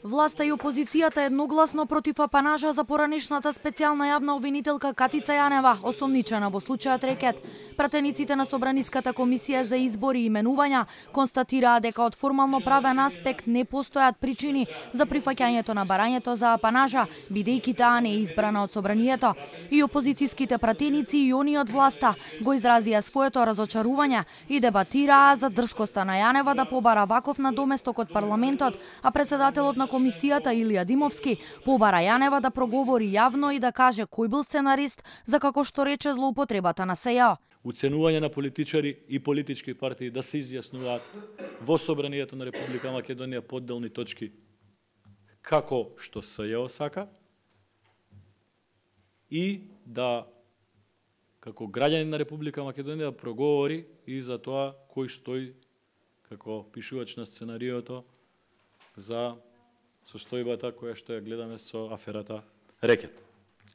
Власта и опозицијата едногласно против апанажа за поранешната специјална јавна обвинителка Катица Јанева, осомничена во случајот Рекет. Пратениците на Собраниската комисија за избори и именувања констатираа дека од формално правен аспект не постојат причини за прифаќањето на барањето за апанажа, бидејќи таа не е избрана од Собранието. И опозицијските пратеници и они од власта го изразија своето разочарување и дебатираа за дрскоста на Јанева да побара ваков надоместок од парламентот, а председателот на комисијата Илија Димовски побара Јанева да проговори јавно и да каже кој бил сценарист за како што рече злоупотребата на СЈО. Уценување на политичари и политички партии да се изјаснуваат во Собранието на Република Македонија подделни точки како што СЈО сака и да како граѓанин на Република Македонија проговори и за тоа кој стои како пишувач на сценариото за состојбата која што ја гледаме со аферата Рекет.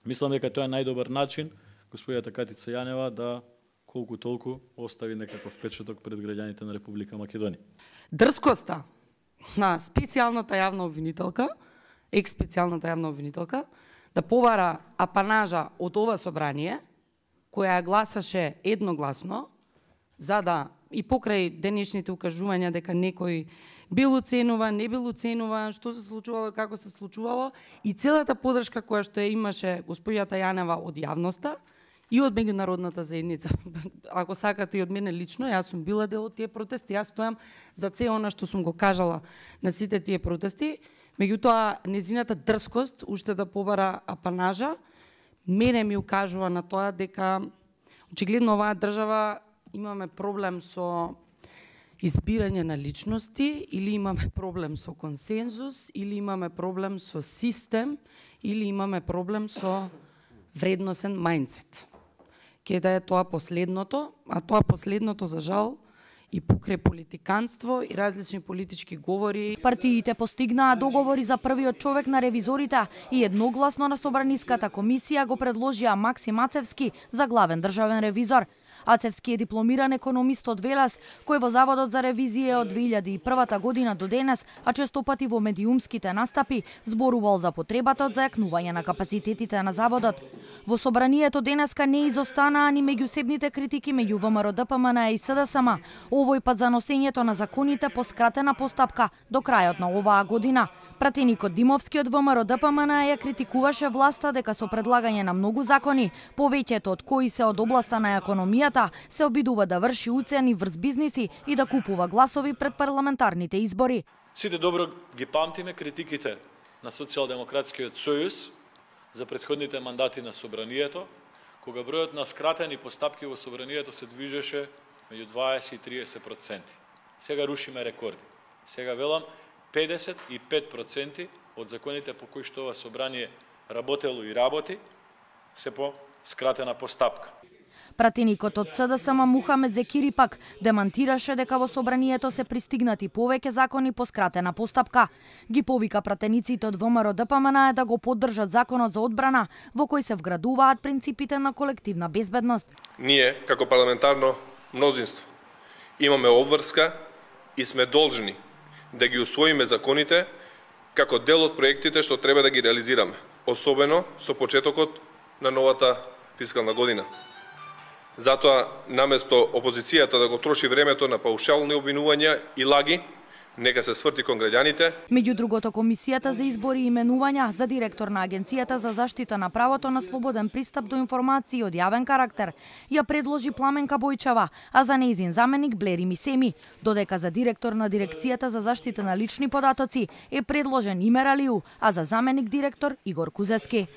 Мислам дека тоа е најдобар начин господјата Катица Јанева да колку толку остави некаков впечаток пред граѓаните на Република Македонија. Дрскоста на специјалната јавна обвинителка, експецијалната јавна обвинителка, да побара апанажа од ова собрание, која гласаше едногласно, за да и покрај денешните укажувања дека некој бил оценуван, не бил оценуван, што се случувало, како се случувало, и целата поддршка која што ја имаше господјата Јанева од јавноста и од меѓународната заедница. Ако сакате и од мене лично, јас сум била дел од тие протести, јас стојам за се она што сум го кажала на сите тие протести, меѓутоа незината дрскост уште да побара апанажа, мене ми укажува на тоа дека очигледно оваа држава имаме проблем со избирање на личности, или имаме проблем со консензус, или имаме проблем со систем, или имаме проблем со вредносен мајндсет. Ке да е тоа последното, а тоа последното, за жал, и покрај политиканство и различни политички говори. Партиите постигнаа договори за првиот човек на ревизорите и едногласно на Собраниската комисија го предложија Максим Ацевски за главен државен ревизор. Ацевски е дипломиран економист од Велес, кој во Заводот за ревизија од 2001 година до денес, а честопати во медиумските настапи, зборувал за потребата од зајакнување на капацитетите на Заводот. Во Собранието денеска не изостанаа ни меѓусебните критики меѓу ВМРО, ДПМН и СДСМ, овој пат за носењето на законите по скратена постапка до крајот на оваа година. Пратеникот Димовски од ВМРО ДПМН ја критикуваше власта дека со предлагање на многу закони, повеќето од кои се од областа на економијата, се обидува да врши уцени врз бизниси и да купува гласови пред парламентарните избори. Сите добро ги памтиме критиките на Социјалдемократскиот сојуз за претходните мандати на Собранието, кога бројот на скратени постапки во Собранието се движеше меѓу 20 и 30%. Сега рушиме рекорди. Сега велам 55% од законите по кои што ова собрание работело и работи се по скратена постапка. Пратеникот од СДСМ Мухамед Зекири пак демантираше дека во собранието се пристигнати повеќе закони по скратена постапка. Ги повика пратениците од ВМРО ДПМН да го поддржат законот за одбрана, во кој се вградуваат принципите на колективна безбедност. Ние, како парламентарно мнозинство, имаме обврска и сме должни да ги усвоиме законите како дел од проектите што треба да ги реализираме, особено со почетокот на новата фискална година. Затоа, наместо опозицијата да го троши времето на паушални обвинувања и лаги, нека се сврти кон граѓаните. Меѓу другото, Комисијата за избори и именувања за директор на Агенцијата за заштита на правото на слободен пристап до информации од јавен карактер ја предложи Пламенка Бојчева, а за нејзин заменик Блери Мисеми, додека за директор на Дирекцијата за заштита на лични податоци е предложен Имер Алиу, а за заменик директор Игор Кузески.